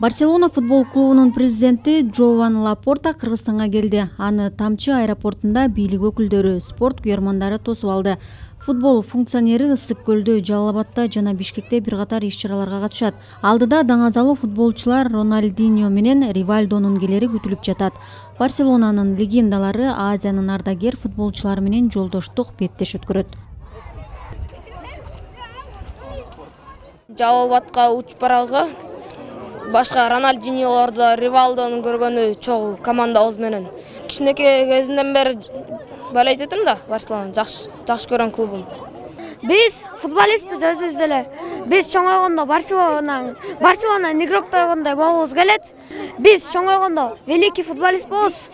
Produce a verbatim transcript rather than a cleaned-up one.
Барселона футбол клубунун президенти Джован Лапорта Кыргызстанга келди. Аны Тамчы аэропортунда бийлик өкүлдөрү, спорт күйөрмандары тосуп алды. Футбол функционери Ысык көлдө, Жалал Абадта жана Бишкекте бир катар иш-чараларга катышат. Алдыда даңазалуу футболчулар Роналдиньо менен Ривальдонун келери күтүлүп жатат. Барселонанын легендалары Азиянын ардагер футболчулары менен жолдоштук беттеш өткөрөт. Жалал Абадка учуп барабызга. Башка Роналдиньолорду, Ривальдону көргөнү чогуу командабыз менен. Кичинекей кезимден бери болейт этим да, Барселона жакшы жакшы көргөн клубум. Биз футболистпиз өзүбүз эле. Биз чоңойгондо Барселона, Барселона игрокторундай болобуз келет. Биз чоңойгондо великий футболист болобуз.